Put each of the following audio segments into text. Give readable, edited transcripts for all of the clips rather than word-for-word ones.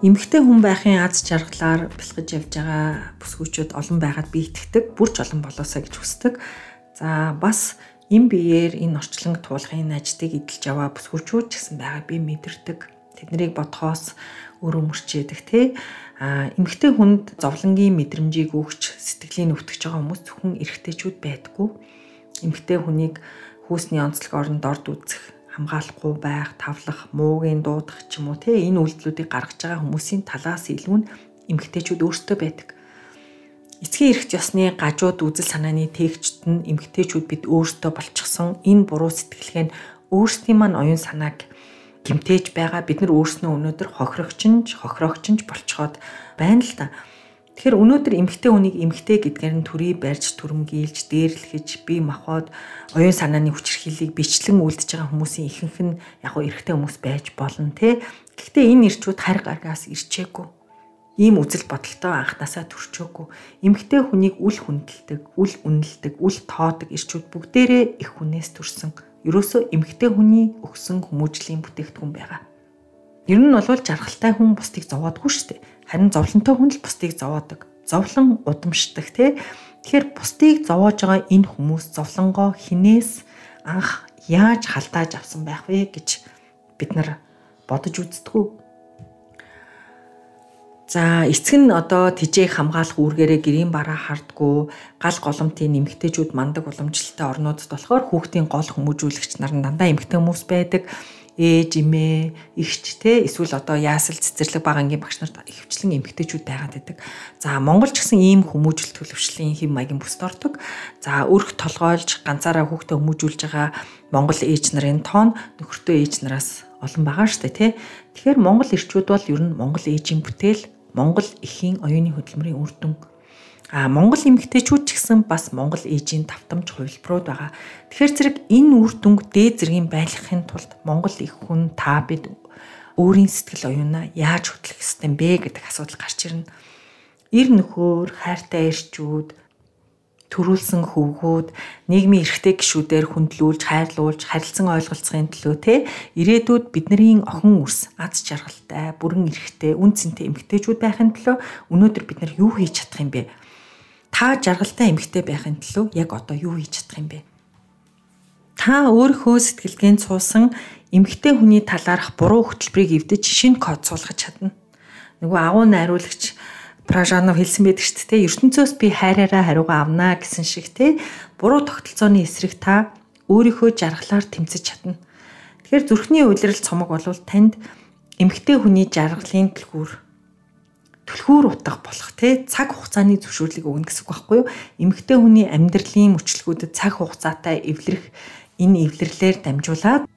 Эмэгтэй хүн байхын аз жаргалаар бэлгэж явж байгаа бүсгүйчүүд олон байгаад би итгэдэг. Бүр ч олон болоосаа гэж хүсдэг. За бас эм биеэр энэ орчлонг туулахын ажтыг эдэлж яваа бүсгүйчүүд ч гэсэн байгаа би мэдэрдэг. Тэднийг бодхоос өөрөө мөрчээдэг тий. Эмэгтэй хүнд зовлонгийн мэдрэмжийг өгч сэтгэлийн өвтгөж байгаа хүмүүс зөвхөн эрэгтэйчүүд байдаггүй. Эмэгтэй хүнийг хүүсний онцлог оронд орд үзэх, хамгаалахгүй байх, тавлах, муугийн дуудах ч юм уу те энэ үйлдэлүүдийг гаргаж байгаа хүмүүсийн талаас илүү нь эмэгтэйчүүд өөрсдөө байдаг. Эцгийн эрхт ёсны гажууд үзэл санааны тээгчд нь эмэгтэйчүүд бид өөрсдөө болчихсон энэ буруу сэтгэлгээ нь өөрсдийн маань оюун санааг гэмтээж байгаа. Бид нар өөрснөө өнөөдөр хохирогчинж болцоход байна л да. Тэгэхээр өнөөдөр эмэгтэй хүнийг эмэгтэй гэдгээр нь төрий барьж, түрэмгийлж, дээрлэхэж, бие махбод, оюун санааны хүчирхийллийг бичлэн үлдэж байгаа хүмүүсийн ихэнх нь яг гоо эрэгтэй хүмүүс байж болно те. Гэхдээ энэ ирчүүд харь гаргаас ирчээгүй. Ийм үзэл бодолтой анханасаа төрчөөгүй. Эмэгтэй хүнийг үл хүндэлдэг, үл үнэлдэг, үл тоодог ирчүүд бүгдээрээ их хүнээс төрсөн. Ерөөсөө эмэгтэй хүний өгсөн хүмүүжлийн бүтээгдэхүүн байгаа. Ер нь бол жаргалтай хүн бусдыг зовоодгүй шүү дээ. Харин зовлонтой хүн л бусдыг зовоодог. Зовлон удамшдаг тий. Тэгэхээр бусдыг зовоож байгаа энэ хүмүүс зовлонгоо хинээс анх яаж халдааж авсан байх вэ гэж бид нар бодож үздэггүй. За эцэг нь одоо тэжээх хамгаалах үүргээрээ гэрийн бараа хардггүй гал голомтын эмэгтэйчүүд мандаг уламжлалтай орнуудад болохоор хүүхдийн гол хүмүүжүүлэгч нар нь дандаа эмэгтэй хүмүүс байдаг. Ээж, эмээ, эгч те эсвэл одоо яасал цэцэрлэг бага ангийн багш нарт ихвчлэн эмэгтэйчүүд байгаад байдаг. За Монгол ч гэсэн ийм хүмүүжил төлөвшлийн хэм маягийн бүсд ордог. За өрх толгойлж ганцаараа хүүхдээ хүмүүжүүлж байгаа Монгол ээж нарын тоон нөхөртөө ээж нараас олон байгаа шүү дээ те. Тэгэхээр Монгол эрчүүд бол ер нь Монгол ээжийн бүтээл, Монгол эхийн оюуны хөдөлмөрийн үр дүн. Монгол эмэгтэйчүүд ч гэсэн бас Монгол ээжийн давтамж хувилбарууд байгаа. Тэгэхээр зэрэг энэ үр дүнг дээд зэргийн байлгахын тулд Монгол их хүн та бид өөрийн сэтгэл оюунаа яаж хөтлөх ёстой бэ гэдэг асуудал гарч ирнэ. Ир нөхөр, хайртай эрчүүд, төрүүлсэн хөвгүүд, нийгмийн эрхтэй гишүүдээр хүндлүүлж, хайрлуулж, харилцан ойлголцохын төлөө те ирээдүйд бидний охин үрс, аз жаргалтай, бүрэн эрхтэй, үн цэнтэй эмэгтэйчүүд байхын төлөө өнөөдөр бид нар юу хийж чадах юм бэ? Та жаргалтай эмэгтэй байхын төлөө яг одоо юу хийж чадах юм бэ? Та өөрийнхөө сэтгэлгээнд суусан эмэгтэй хүний талаарх буруу хөтөлбөрийг эвдэж шинэ код суулгаж чадна. Нөгөө агуу найруулагч Пражанов хэлсэн байдаг шүү дээ. ертөнцөөс би хайраараа хариугаа авнаа гэсэн шиг те буруу тогтолцооны эсрэг та өөрийнхөө жаргалаар тэмцэж чадна. Тэгэхээр зүрхний улирал цомог болвол танд эмэгтэй хүний жаргалын түлхүүр утга болох те цаг хугацааны зөвшөөрлийг өгнө гэсэн үг байхгүй юу? Эмэгтэй хүний амьдралын мөчлөгүүдэд цаг хугацаатай эвлэрэх энэ эвлэрлээр дамжуулаад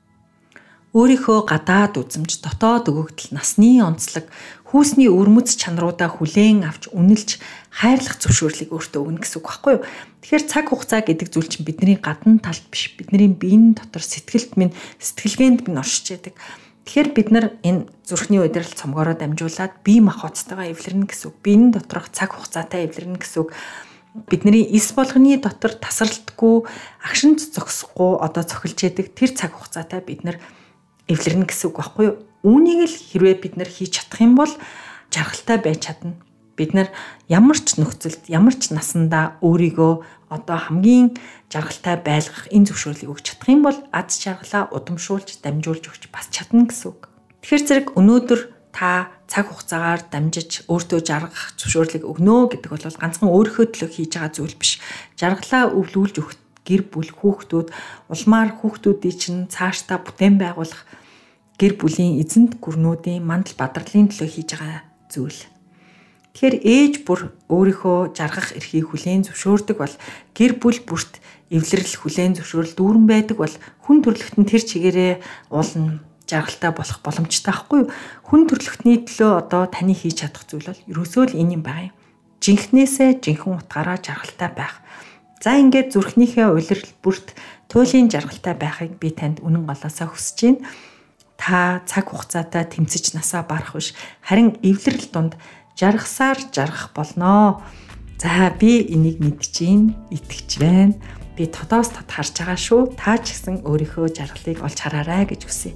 өөрийнхөө гадаад үзэмж, дотоод өгөгдөл, насны онцлог, хүүсний өрмөц чанаруудаа хүлээн авч үнэлж хайрлах зөвшөөрлийг өөртөө өгнө гэсэн үг байхгүй юу? Тэгэхээр цаг хугацаа гэдэг зүйл чинь бидний гадна талд биш, бидний биеийн дотор сэтгэлд минь, сэтгэлгээнд минь оршиж яадаг. Тэгэхээр бид нар энэ зүрхний удирал цомгоороо дамжуулаад бие махбодтойгоо эвлэрнэ гэсэн үг. Биеийн доторх цаг хугацаатай эвлэрнэ гэсэн үг. Бидний эс болгоны дотор тасралтгүй, агшин зогсохгүй одоо цохилж яадаг тэр цаг хугацаатай бид нар эвлэрнэ гэсэн үг байхгүй юу? Үүнийг л хэрвээ бид нар хийж чадах юм бол жаргалтай байж чадна. Бид нар ямар ч нөхцөлд, ямар ч насандаа өөрийгөө одоо хамгийн жаргалтай байлгах энэ зөвшөөрлийг өгч чадах юм бол аз жаргалаа удамшуулж, дамжуулж өгч бас чадна гэсэн үг. Тэгэхээр зэрэг өнөөдөр та цаг хугацаагаар дамжиж өөртөө жаргах зөвшөөрлийг өгнө гэдэг бол ганцхан өөрийнхөө төлөө хийж байгаа зүйл биш. Жаргалаа өвлүүлж өгөх гэр бүл, хүүхдүүд, улмаар хүүхдүүдийн чинь цаашдаа бүтээн байгуулах гэр бүлийн эзэнт гүрнүүдийн мандал бадралын төлөө хийж байгаа зүйл. Тэгэхээр ээж бүр өөрийнхөө жаргах эрхийг хүлээн зөвшөөрдөг бол гэр бүл бүрт эвлэрэл хүлээн зөвшөөрөл дүүрэн байдаг бол хүн төрөлхтөн тэр чигээрээ уулна жаргалтай болох боломжтой байхгүй юу? Хүн төрөлхтний төлөө одоо таны хийж чадах зүйл бол ерөөсөө л энэ юм байна. Жинхнээсээ жинхэнэ утгаараа жаргалтай байх. За ингээд зүрхнийхээ улирал бүрт туйлын жаргалтай байхыг би танд үнэн голоосаа хүсэж байна. Та цаг хугацаатай тэмцэж насаа барах биш, харин эвлэрэл дунд жаргасаар жаргах болноо. За би энийг мэдчихээн, итгэж байна. Би тодоос тод харж байгаа шүү. Та ч гэсэн өөрийнхөө жаргалыг олж хараарай гэж хүсье.